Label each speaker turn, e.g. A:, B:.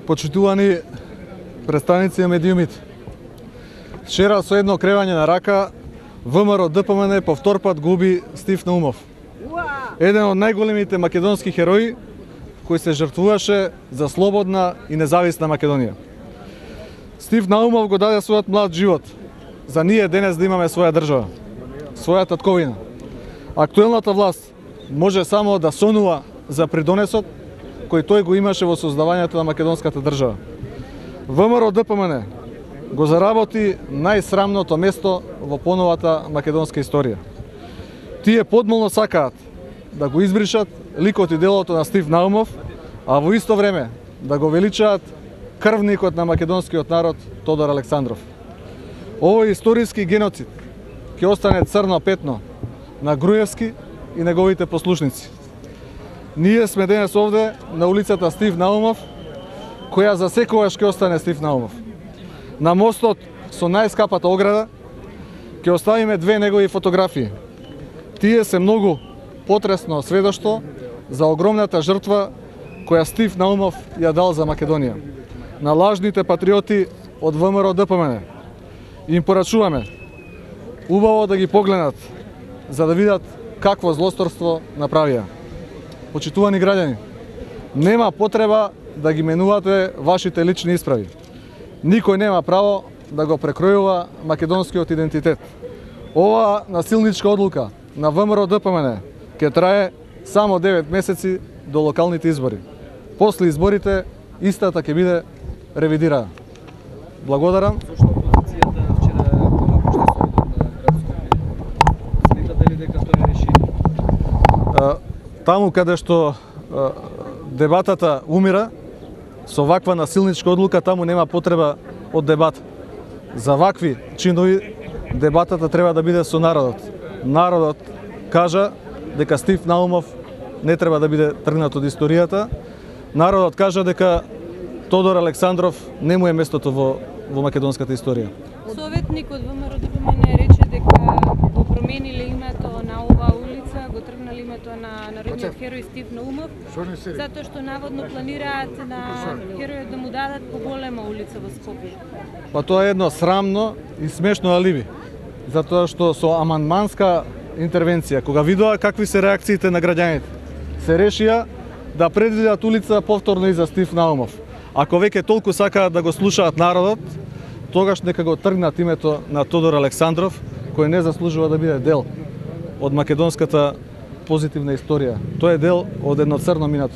A: Почитувани представници на медиумите. Вчера со едно кревање на рака ВМРО ДПМН по втор пат губи Стив Наумов. Еден од најголемите македонски херои кој се жртвуваше за слободна и независна Македонија. Стив Наумов го даде својот млад живот за ние денес да имаме своја држава, своја татковина. Актуелната власт може само да сонува за придонесот кој тој го имаше во создавањето на македонската држава. ВМРО ДПМН го заработи најсрамното место во поновата македонска историја. Тие подмолно сакаат да го избришат ликот и делото на Стив Наумов, а во исто време да го величаат крвникот на македонскиот народ Тодор Александров. Овој историски геноцид ќе остане црно петно на Груевски и неговите послушници. Ние сме денес овде на улицата Стив Наумов, која за секогаш ќе остане Стив Наумов. На мостот со најскапата ограда ќе оставиме две негови фотографии. Тие се многу потресно сведоштво за огромната жртва која Стив Наумов ја дал за Македонија. На лажните патриоти од ВМРО ДПМН им порачуваме убаво да ги погледнат за да видат какво злосторство направија. Почитувани граѓани, нема потреба да ги менувате вашите лични исправи. Никој нема право да го прекројува македонскиот идентитет. Ова насилничка одлука на ВМРО ДПМН ќе трае само 9 месеци до локалните избори. После изборите истата ќе биде ревидирана. Благодарам.
B: Зошто опозицијата вчера го напушти Советот на градско? Сметате ли дека тоа е решение?
A: Таму каде што дебатата умира, со ваква насилничка одлука таму нема потреба од дебата. За вакви чинови дебатата треба да биде со народот. Народот кажа дека Стив Наумов не треба да биде тргнат од историјата. Народот кажа дека Тодор Александров не му е местото во македонската историја.
C: Советник од ВМРО ДПМН рече дека го промениле името на оваа улица, го тргнали името на народниот херој Стив Наумов, затоа што наводно планираат на херојот да му дадат поголема улица во Скопје.
A: Па тоа е едно срамно и смешно алиби, затоа што со амандманска интервенција, кога видоа какви се реакциите на граѓаните, се решија да предвидат улица повторно и за Стив Наумов. Ако веќе толку сакаат да го слушаат народот, тогаш нека го тргнат името на Тодор Александров, кој не заслужува да биде дел од македонската позитивна историја. Тој е дел од едно црно минато.